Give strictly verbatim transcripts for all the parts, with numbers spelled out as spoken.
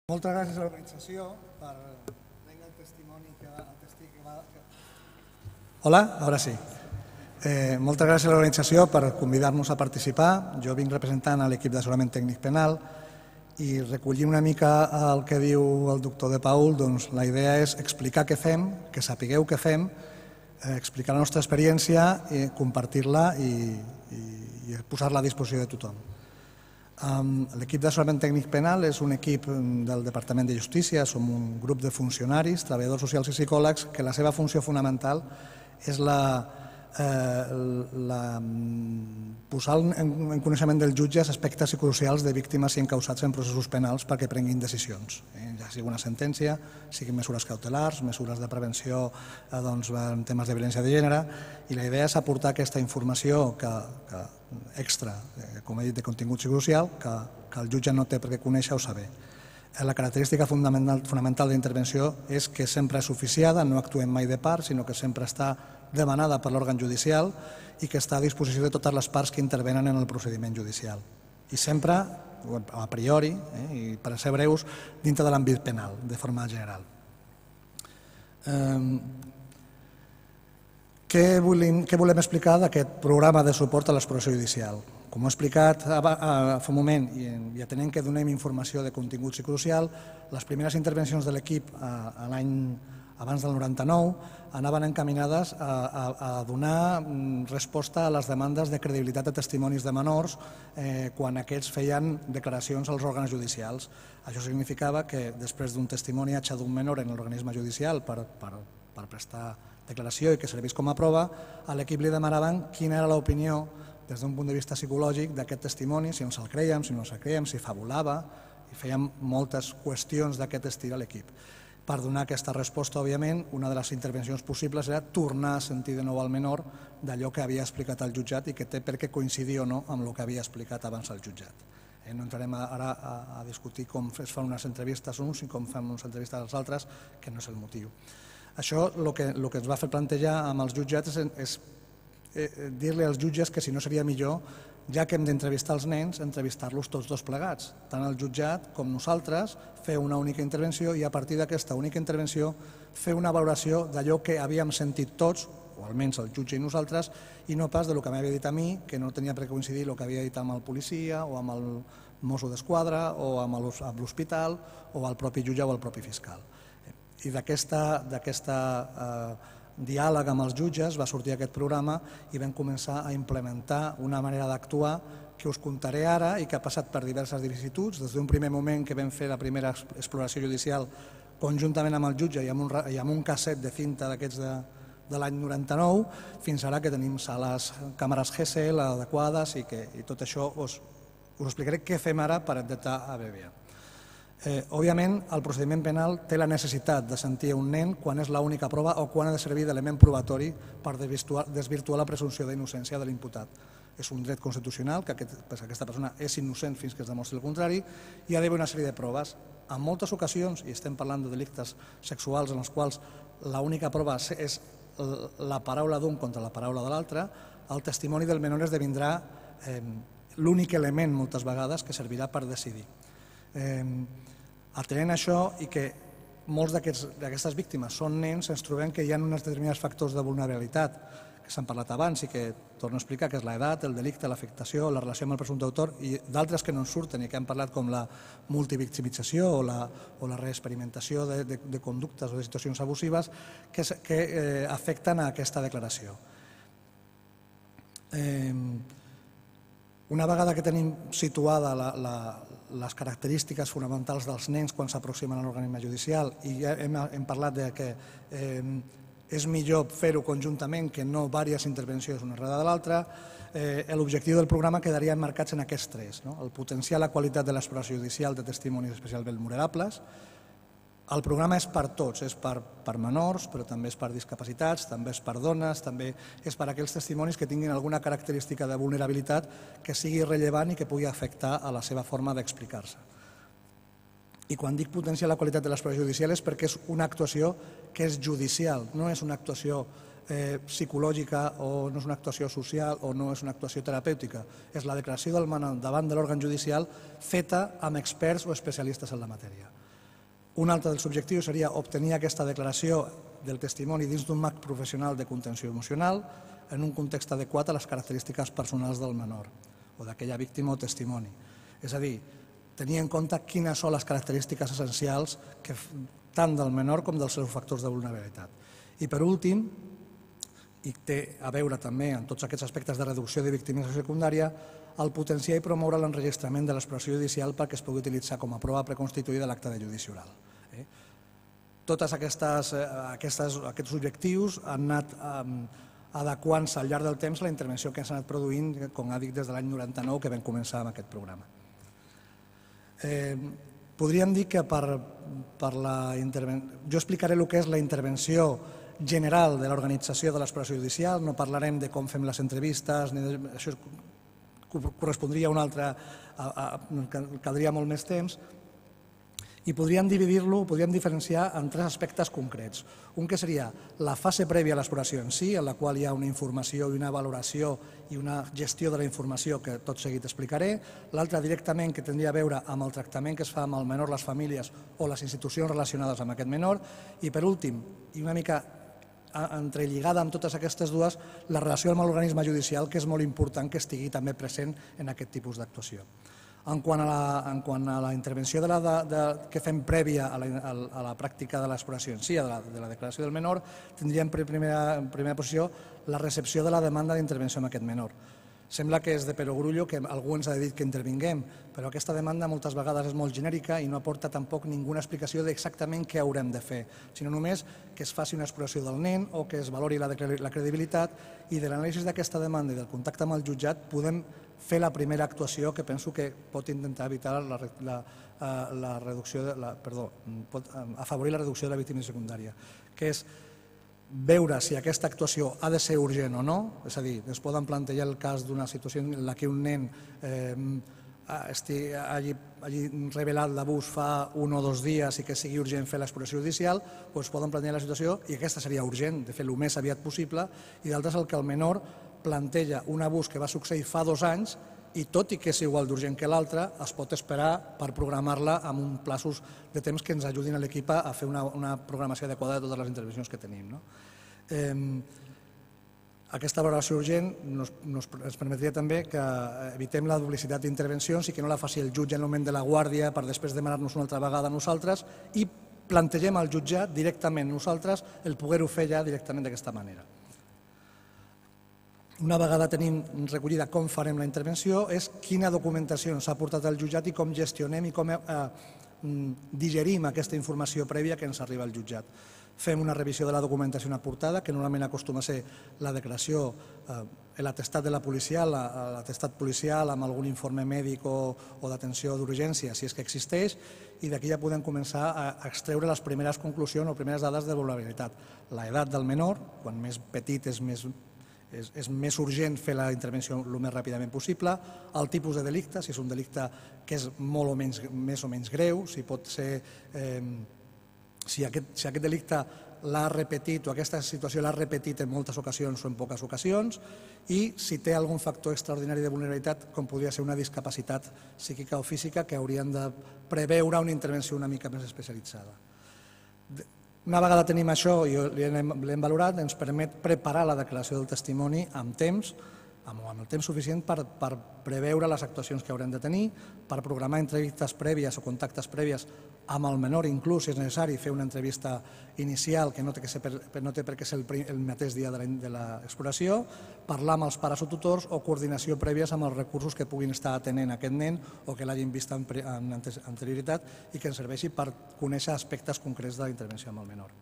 Moltes gràcies a l'organització per prendre el testimoni que... Hola, ara sí. Eh, moltes gràcies a l'organització per convidar-nos a participar. Jo vinc representant a l'equip d'assessorament tècnic penal i recollir una mica el que diu el doctor De Paul, doncs la idea és explicar què fem, que sapigueu què fem, eh, explicar la nostra experiència, i compartir-la i, i, i posar-la a disposició de tothom. L'equip d'assessorament tècnic penal és un equip del Departament de Justícia, som un grup de funcionaris, treballadors socials i psicòlegs, que la seva funció fonamental és la, eh, la, posar en coneixement dels jutges aspectes crucials de víctimes i encausats en processos penals perquè prenguin decisions, eh, ja sigui una sentència, siguin mesures cautelars, mesures de prevenció eh, doncs, en temes de violència de gènere, i la idea és aportar aquesta informació que, que extra, com he dit, de contingut psicosocial, que, que el jutge no té per què conèixer o saber. La característica fonamental, fonamental de l'intervenció és que sempre és oficiada, no actuem mai de part, sinó que sempre està demanada per l'òrgan judicial i que està a disposició de totes les parts que intervenen en el procediment judicial. I sempre, a priori, eh, i per ser breus, dintre de l'àmbit penal, de forma general. Eh, Què volem, què volem explicar d'aquest programa de suport a l'exploració judicial? Com ho he explicat fa un moment, i atenent que donem informació de contingut psicosocial, les primeres intervencions de l'equip l'any abans del noranta-nou anaven encaminades a, a, a donar resposta a les demandes de credibilitat de testimonis de menors eh, quan aquests feien declaracions als òrgans judicials. Això significava que després d'un testimoniatge d'un menor en l'organisme judicial per, per, per prestar declaració i que servís com a prova, a l'equip li demanaven quina era l'opinió des d'un punt de vista psicològic d'aquest testimoni, si ens el creiem, si no ens el creiem, si fabulava, i fèiem moltes qüestions d'aquest estil a l'equip. Per donar aquesta resposta, òbviament, una de les intervencions possibles era tornar a sentir de nou al menor d'allò que havia explicat el jutjat i que té per què coincidir o no amb el que havia explicat abans el jutjat. No entrarem ara a discutir com es fan unes entrevistes uns i com fem unes entrevistes als altres, que no és el motiu. Això el que, el que ens va fer plantejar amb els jutjats és, és eh, dir-li als jutges que si no seria millor, ja que hem d'entrevistar els nens, entrevistar-los tots dos plegats, tant el jutjat com nosaltres, fer una única intervenció i a partir d'aquesta única intervenció fer una valoració d'allò que havíem sentit tots, o almenys el jutge i nosaltres, i no pas del que m'havia dit a mi, que no tenia per què coincidir el que havia dit amb el policia o amb el mosso d'esquadra o amb l'hospital o el propi jutge o el propi fiscal. I d'aquest diàleg amb els jutges va sortir aquest programa i vam començar a implementar una manera d'actuar que us contaré ara i que ha passat per diverses vicissituds, des d'un primer moment que vam fer la primera exploració judicial conjuntament amb el jutge i amb un, i amb un casset de cinta d'aquests de, de l'any noranta-nou, fins ara que tenim sales, càmeres G S L adequades i, que, i tot això us, us explicaré què fem ara per intentar abreviar. Eh, òbviament, el procediment penal té la necessitat de sentir un nen quan és l'única prova o quan ha de servir d'element probatori per desvirtuar la presumpció d'innocència de l'imputat. És un dret constitucional que aquest, aquesta persona és innocent fins que es demostri el contrari i ha d'haver una sèrie de proves. En moltes ocasions, i estem parlant de delictes sexuals en els quals l'única prova és la paraula d'un contra la paraula de l'altre, el testimoni del menor esdevindrà eh, l'únic element moltes vegades que servirà per decidir. Eh, atenent això i que molts d'aquestes víctimes són nens, ens trobem que hi ha uns determinats factors de vulnerabilitat que s'han parlat abans i que torno a explicar, que és l'edat, el delicte, l'afectació, la relació amb el presumpte autor i d'altres que no en surten i que hem parlat com la multivictimització o la, o la reexperimentació de, de, de conductes o de situacions abusives que, que eh, afecten a aquesta declaració. Eh, Una vegada que tenim situada la, la, les característiques fonamentals dels nens quan s'aproximen a l'organisme judicial i ja hem, hem parlat de que eh, és millor fer-ho conjuntament que no diverses intervencions una darrere de l'altra, eh, l'objectiu del programa quedaria emmarcats en aquests tres, no? El potenciar la qualitat de l'exploració judicial de testimonis especialment vulnerables. El programa és per tots, és per, per menors, però també és per discapacitats, també és per dones, també és per aquells testimonis que tinguin alguna característica de vulnerabilitat que sigui rellevant i que pugui afectar a la seva forma d'explicar-se. I quan dic potenciar la qualitat de l'exploració judicial és perquè és una actuació que és judicial, no és una actuació eh, psicològica o no és una actuació social o no és una actuació terapèutica. És la declaració del menor davant de l'òrgan judicial feta amb experts o especialistes en la matèria. Un altre dels objectius seria obtenir aquesta declaració del testimoni dins d'un marc professional de contenció emocional en un context adequat a les característiques personals del menor o d'aquella víctima o testimoni. És a dir, tenir en compte quines són les característiques essencials tant del menor com dels seus factors de vulnerabilitat. I per últim, i té a veure també amb tots aquests aspectes de reducció de victimització secundària, el potenciar i promoure l'enregistrament de l'expressió judicial perquè es pugui utilitzar com a prova preconstituïda a l'acte de judici oral. Tots aquests objectius han anat adequant-se al llarg del temps la intervenció que s'ha anat produint, com ha dit, des de l'any noranta-nou que vam començar amb aquest programa. Podríem dir que per la intervenció... Jo explicaré el que és la intervenció general de l'organització de l'expressió judicial, no parlarem de com fem les entrevistes, això correspondria a un altre, caldria molt més temps, i podríem dividir-lo, podríem diferenciar en tres aspectes concrets. Un que seria la fase prèvia a l'exploració en si, en la qual hi ha una informació i una valoració i una gestió de la informació que tot seguit explicaré. L'altra directament que tindria a veure amb el tractament que es fa amb el menor, les famílies o les institucions relacionades amb aquest menor. I per últim, i una mica entrelligada amb totes aquestes dues, la relació amb l'organisme judicial, que és molt important que estigui també present en aquest tipus d'actuació. En quant a la intervenció que fem prèvia a la pràctica de l'exploració en si, de la declaració del menor, tindríem en primera posició la recepció de la demanda d'intervenció amb aquest menor. Sembla que és de perogrullo que algú ens ha dit que intervinguem, però aquesta demanda moltes vegades és molt genèrica i no aporta tampoc ninguna explicació d'exactament què haurem de fer, sinó només que es faci una exploració del nen o que es valori la credibilitat, i de l'anàlisi d'aquesta demanda i del contacte amb el jutjat podem fer la primera actuació que penso que pot intentar evitar la reducció, perdó, pot afavorir la reducció de la victimització secundària, que és veure si aquesta actuació ha de ser urgent o no, és a dir, es poden plantejar el cas d'una situació en què un nen hagi revelat l'abús fa un o dos dies i que sigui urgent fer l'exploració judicial, o es poden plantejar la situació, i aquesta seria urgent, de fer el més aviat possible, i d'altres el que el menor planteja un abús que va succeir fa dos anys i tot i que és igual d'urgent que l'altre, es pot esperar per programar-la amb uns plaços de temps que ens ajudin a l'equip a fer una programació adequada de totes les intervencions que tenim. Aquesta valoració urgent ens permetria també que evitem la duplicitat d'intervencions i que no la faci el jutge en el moment de la guàrdia per després demanar-nos una altra vegada a nosaltres, i plantegem al jutjat directament nosaltres el poder-ho fer ja directament d'aquesta manera. Una vegada tenim recollida com farem la intervenció, és quina documentació ens ha portat el jutjat i com gestionem i com digerim aquesta informació prèvia que ens arriba al jutjat. Fem una revisió de la documentació aportada, que normalment acostuma a ser la declaració, l'atestat de la policia, l'atestat policial amb algun informe mèdic o d'atenció d'urgència, si és que existeix, i d'aquí ja podem començar a extreure les primeres conclusions o primeres dades de vulnerabilitat. L'edat del menor, quan més petit és més és més urgent fer la intervenció el més ràpidament possible, el tipus de delicte, si és un delicte que és molt o menys, més o menys greu, si pot ser, si aquest delicte l'ha repetit o aquesta situació l'ha repetit en moltes ocasions o en poques ocasions, i si té algun factor extraordinari de vulnerabilitat, com podria ser una discapacitat psíquica o física, que haurien de preveure una intervenció una mica més especialitzada. Una vegada tenim això i l'hem valorat, ens permet preparar la declaració del testimoni amb temps, amb el temps suficient per preveure les actuacions que haurem de tenir, per programar entrevistes prèvies o contactes prèvies amb el menor, inclús si és necessari fer una entrevista inicial que no té per què ser el mateix dia de l'exploració, parlar amb els pares o tutors o coordinació prèvies amb els recursos que puguin estar atenent aquest nen o que l'hagin vist amb anterioritat i que ens serveixi per conèixer aspectes concrets de la intervenció amb el menor.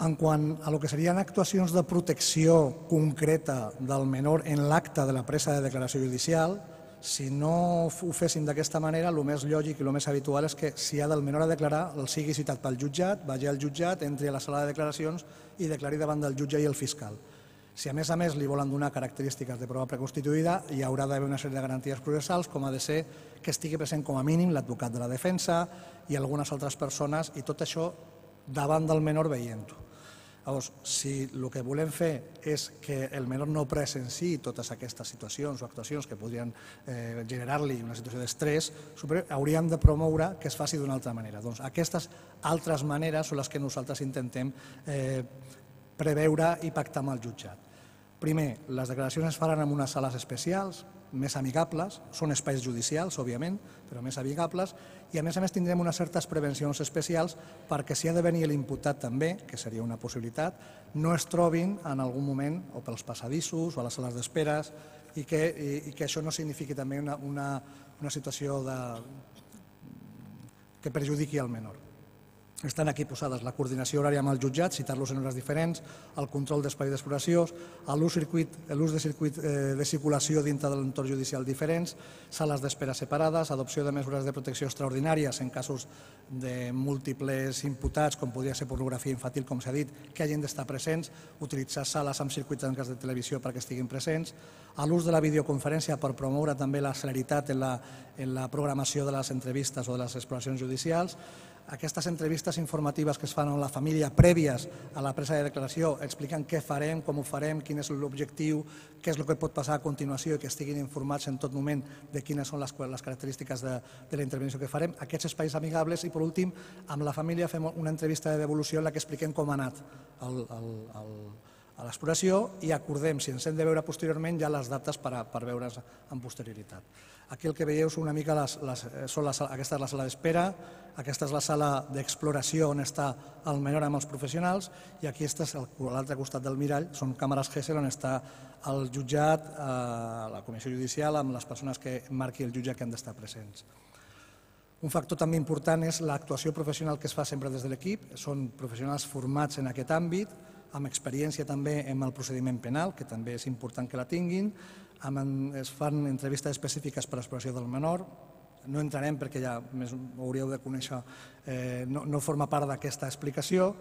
En quant a lo que serien actuacions de protecció concreta del menor en l'acte de la presa de declaració judicial, si no ho féssim d'aquesta manera, el més lògic i el més habitual és que si ha del menor a declarar, el sigui citat pel jutjat, vagi al jutjat, entri a la sala de declaracions i declari davant del jutge i el fiscal. Si a més a més li volen donar característiques de prova preconstituïda, hi haurà d'haver una sèrie de garanties processals, com ha de ser que estigui present com a mínim l'advocat de la defensa i algunes altres persones, i tot això davant del menor veient-ho. Llavors, si el que volem fer és que el menor no presenciï totes aquestes situacions o actuacions que podrien generar-li una situació d'estrès, hauríem de promoure que es faci d'una altra manera. Doncs aquestes altres maneres són les que nosaltres intentem preveure i pactar amb el jutjat. Primer, les declaracions es faran en unes sales especials, més amigables, són espais judicials, òbviament, però més amigables, i a més a més tindrem unes certes prevencions especials perquè si ha de venir l'imputat també, que seria una possibilitat, no es trobin en algun moment o pels passadissos o a les sales d'esperes i que això no signifiqui també una situació que perjudiqui el menor. Estan aquí posades la coordinació horària amb el jutjat, citar-los en hores diferents, el control d'espai d'exploració, l'ús de circuit de circulació dintre de l'entorn judicial diferents, sales d'espera separades, adopció de mesures de protecció extraordinàries en casos de múltiples imputats, com podria ser pornografia infantil, com s'ha dit, que hagin d'estar presents, utilitzar sales amb circuits tancats de televisió perquè estiguin presents, l'ús de la videoconferència per promoure també la celeritat en la programació de les entrevistes o de les exploracions judicials. Aquestes entrevistes informatives que es fan amb la família prèvies a la presa de declaració explicant què farem, com ho farem, quin és l'objectiu, què és el que pot passar a continuació i que estiguin informats en tot moment de quines són les característiques de la intervenció que farem. Aquests espais amigables i, per últim, amb la família fem una entrevista de devolució en la que expliquem com ha anat a l'exploració i acordem, si ens hem de veure posteriorment, ja les dates per veure's amb posterioritat. Aquí el que veieu són una mica, aquesta és la sala d'espera, aquesta és la sala d'exploració on està el menor amb els professionals i aquí a l'altre costat del mirall són càmeres Gesell on està el jutjat, la comissió judicial amb les persones que marqui el jutge que han d'estar presents. Un factor també important és l'actuació professional que es fa sempre des de l'equip, són professionals formats en aquest àmbit, amb experiència també en el procediment penal, que també és important que la tinguin, es fan entrevistes específiques per a l'exploració del menor, no entrarem perquè ja ho hauríeu de conèixer, no forma part d'aquesta explicació,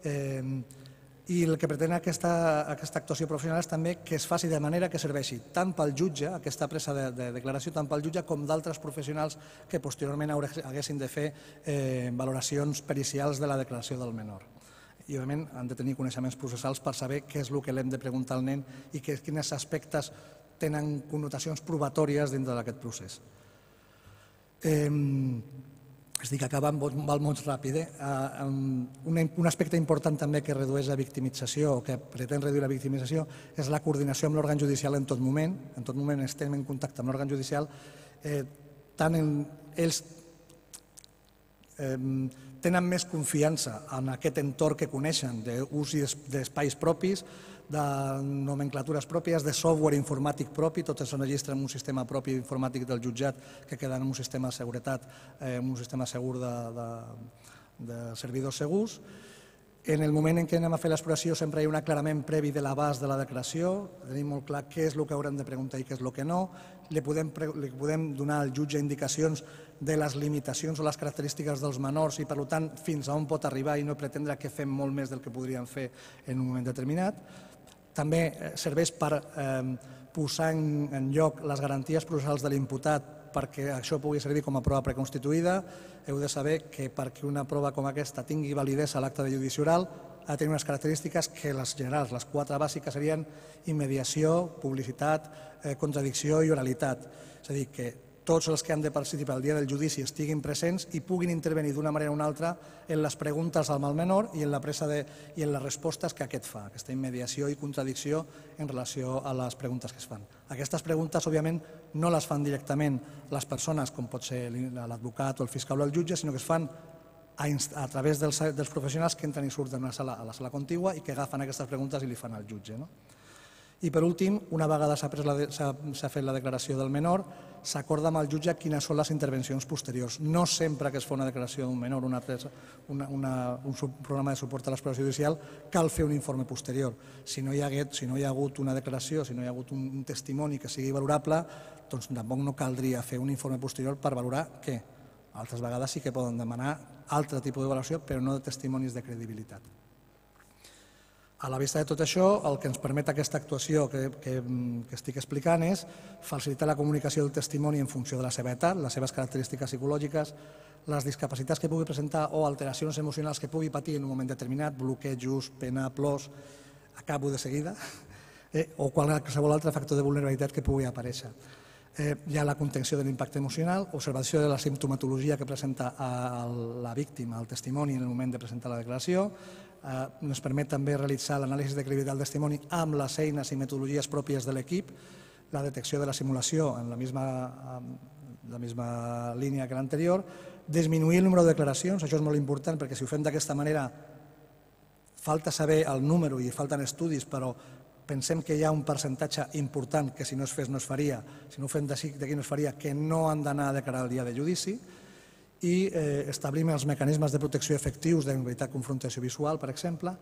i el que pretén aquesta actuació professional és també que es faci de manera que serveixi tant pel jutge, aquesta presa de declaració, tant pel jutge com d'altres professionals que posteriorment haguessin de fer valoracions pericials de la declaració del menor. I, òbviament, han de tenir coneixements processals per saber què és el que l'hem de preguntar al nen i quins aspectes tenen connotacions probatòries dintre d'aquest procés. Estic acabant, val molt ràpid. Un aspecte important també que redueix la victimització o que pretén reduir la victimització és la coordinació amb l'òrgan judicial en tot moment. En tot moment estem en contacte amb l'òrgan judicial. Tant ells tenen més confiança en aquest entorn que coneixen d'ús d'espais propis, de nomenclatures pròpies, de software informàtic propi, tot es registra en un sistema propi informàtic del jutjat que queda en un sistema de seguretat, en un sistema segur de servidors segurs. En el moment en què anem a fer l'exploració sempre hi ha un aclarament previ de l'abast de la declaració, tenim molt clar què és el que haurem de preguntar i què és el que no, li podem donar al jutge indicacions de les limitacions o les característiques dels menors i, per tant, fins a on pot arribar i no pretendre que fem molt més del que podríem fer en un moment determinat. També serveix per posar en lloc les garanties processals de l'imputat perquè això pugui servir com a prova preconstituïda. Heu de saber que perquè una prova com aquesta tingui validesa a l'acte de judici oral ha de tenir unes característiques que les generals, les quatre bàsiques serien immediació, publicitat, contradicció i oralitat. És a dir, que tots els que han de participar el dia del judici estiguin presents i puguin intervenir d'una manera o una altra en les preguntes al menor i en la presa i en les respostes que aquest fa, aquesta immediació i contradicció en relació a les preguntes que es fan. Aquestes preguntes, òbviament, no les fan directament les persones, com pot ser l'advocat o el fiscal o el jutge, sinó que es fan a través dels professionals que entren i surten a la sala contigua i que agafen aquestes preguntes i li fan al jutge. I, per últim, una vegada s'ha fet la declaració del menor, s'acorda amb el jutge quines són les intervencions posteriors. No sempre que es fa una declaració d'un menor, un programa de suport a l'exploració judicial, cal fer un informe posterior. Si no hi ha hagut una declaració, si no hi ha hagut un testimoni que sigui valorable, doncs tampoc no caldria fer un informe posterior per valorar què. Altres vegades sí que poden demanar altre tipus de valoració, però no de testimonis de credibilitat. A la vista de tot això, el que ens permet aquesta actuació que, que, que estic explicant és facilitar la comunicació del testimoni en funció de la seva edat, les seves característiques psicològiques, les discapacitats que pugui presentar o alteracions emocionals que pugui patir en un moment determinat, bloquejos, pena, plors, acabo de seguida, eh, o qualsevol altre factor de vulnerabilitat que pugui aparèixer. Eh, hi ha la contenció de l'impacte emocional, observació de la simptomatologia que presenta a la víctima, el testimoni en el moment de presentar la declaració. Eh, ens permet també realitzar l'anàlisi de credibilitat del testimoni amb les eines i metodologies pròpies de l'equip, la detecció de la simulació en la misma, en la misma línia que l'anterior, disminuir el número de declaracions, això és molt important perquè si ho fem d'aquesta manera falta saber el número i falten estudis, però pensem que hi ha un percentatge important que si no es fes no es faria, si no ho fem d'aquí no es faria, que no han d'anar a declarar el dia de judici, i eh, establim els mecanismes de protecció efectius d'evitar confrontació visual, per exemple,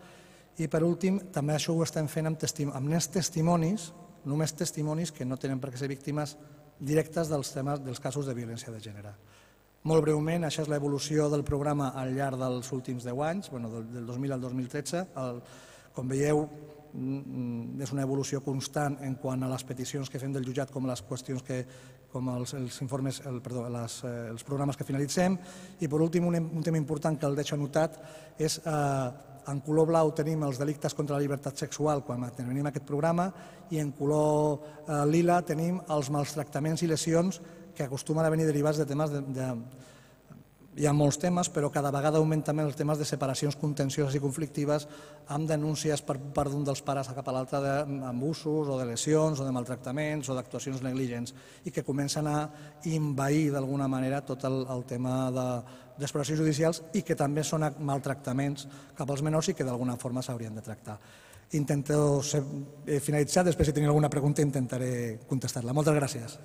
i per últim també això ho estem fent amb, testi amb nens testimonis, només testimonis que no tenen per què ser víctimes directes dels, temes, dels casos de violència de gènere. Molt breument, això és l'evolució del programa al llarg dels últims deu anys, bueno, del, del dos mil al dos mil tretze. El, com veieu, és una evolució constant en quant a les peticions que fem del jutjat com les qüestions que, com els, els informes, el, perdó, les, eh, els programes que finalitzem. I per últim, un, un tema important que el deixo anotat és eh, en color blau tenim els delictes contra la llibertat sexual quan tenim aquest programa i en color eh, lila tenim els maltractaments i lesions que acostumen a venir derivats de temes de, de hi ha molts temes, però cada vegada augmenten els temes de separacions contencioses i conflictives amb denúncies per part d'un dels pares cap a l'altre d'abusos o de lesions o de maltractaments o d'actuacions negligents i que comencen a envair d'alguna manera tot el, el tema de, d'exploracions judicials i que també són maltractaments cap als menors i que d'alguna forma s'haurien de tractar. Intento ser, eh, finalitzar, després si teniu alguna pregunta intentaré contestar-la. Moltes gràcies.